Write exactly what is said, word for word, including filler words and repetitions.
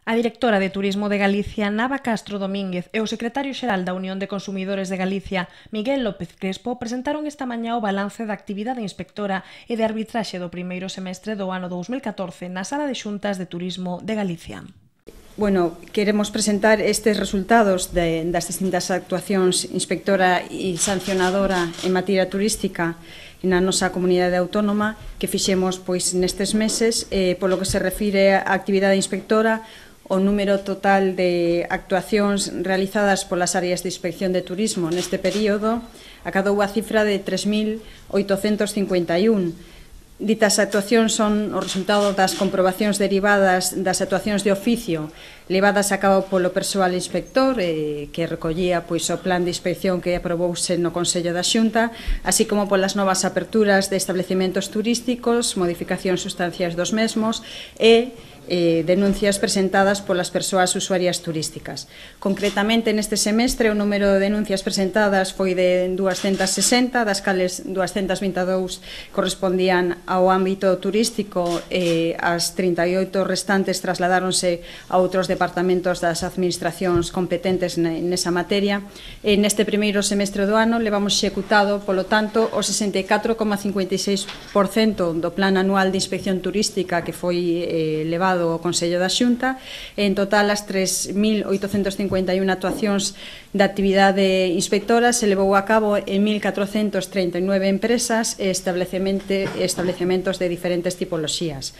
A directora de Turismo de Galicia, Nava Castro Domínguez, e o secretario xeral da Unión de Consumidores de Galicia, Miguel López Crespo, presentaron esta mañá o balance da actividade inspectora e de arbitraxe do primeiro semestre do ano dous mil catorce na Sala de Xuntas de Turismo de Galicia. Bueno, queremos presentar estes resultados de, das distintas actuacións inspectora e sancionadora en materia turística na nosa comunidade autónoma que fixemos pois nestes meses, eh, polo que se refire á actividade inspectora. O número total de actuacións realizadas polas áreas de inspección de turismo neste período acadou a cifra de tres mil oitocentos cincuenta e un. Ditas actuacións son o resultado das comprobacións derivadas das actuacións de oficio levadas a cabo polo persoal inspector eh, que recollía pois, o plan de inspección que aprobouse no Consello da Xunta, así como polas novas aperturas de establecementos turísticos, modificacións sustanciais dos mesmos e Eh, denuncias presentadas polas persoas usuarias turísticas. Concretamente, neste semestre, o número de denuncias presentadas foi de duascentas sesenta, das cales duascentas vinte e dous correspondían ao ámbito turístico e as trinta e oito restantes trasladáronse a outros departamentos das administracións competentes nesa materia. E neste primeiro semestre do ano levamos executado, polo tanto, o sesenta e catro coma cincuenta e seis por cento do Plan Anual de Inspección Turística que foi eh, levado o Consello da Xunta. En total, as tres mil oitocentas cincuenta e un actuacións da actividade inspectora se levou a cabo en mil catrocentas trinta e nove empresas e establecementos de diferentes tipoloxías.